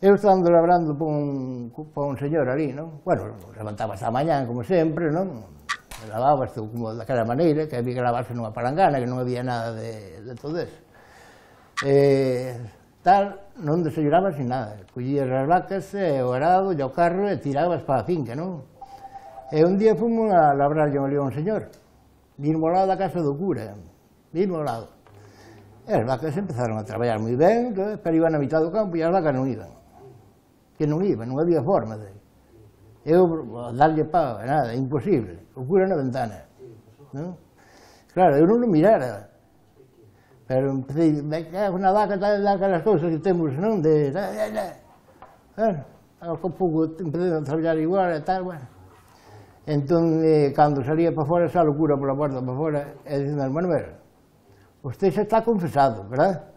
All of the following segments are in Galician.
Eu estando labrando para un señor ali, non? Bueno, levantabas a mañán, como sempre, non? Lavabas como daquela maneira, que había que lavarse nunha palangana, que non había nada de todo eso. Tal, non desayunabas ni nada. Collías as vacas, o arado, e o carro, e tirabas para a finca, non? E un día fomos a labrar ali a un señor, vimos ao lado da casa do cura, vimos ao lado. E as vacas empezaron a traballar moi ben, pero iban a mitad do campo e as vacas non iban. Que non iban, non había forma de... Eu, darlle pau, nada, imposible. O cura na ventana. Non? Claro, eu non o mirara. Pero empecé, me cago na vaca, daquelas cousas que temos, non? Ao pouco empecé a traballar igual e tal, bueno. Entón, cando salía para fora, xa o cura pola porta para fora, e dicendo, Manuel, usted xa está confesado, verdad?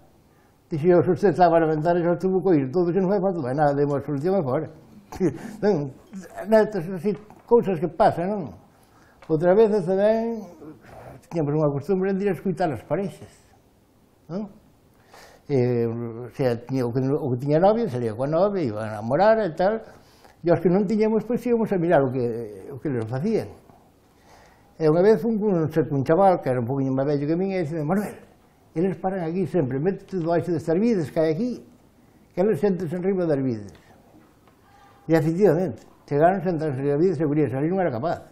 Dixe eu, se usted estaba na ventana, xa estuvo co ir, todo que non fai falta, vai nada, demos a solución e fora. Non, nestas así, cousas que pasan, non? Outra vez tamén, tiñamos unha costumbre de ir a escutar as parexas, non? O sea, o que tiña novia, salía coa novia, iban a namorar e tal, e os que non tiñamos, pois íbamos a mirar o que les facían. E unha vez un chaval, que era un poquinho máis vello que min, e dixen, Manuel, eles paran aquí sempre, métete debaixo destas vides que hai aquí, que eles sentense en riba das vides. E efectivamente, chegaron, sentarse en riba das vides, e Urias ali non era capaz.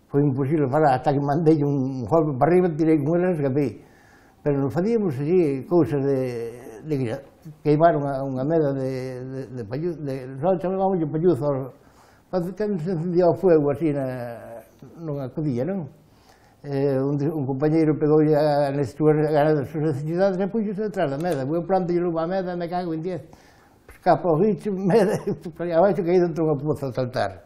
Foi imposible falar, hasta que mandei un golpe para arriba, tirei con eles e escapei. Pero nos facíamos así, cousas de queimar unha meda de palluzo, só chamábamos de palluzo, que se encendía o fuego así nunha codilla, non? Un compañeiro pegou nas súas necesidades e puxose detrás da meda. Eu planto e lupa a meda, me cago en 10. Escapa o bicho, meda, abaixo caí dentro dunha poza a saltar.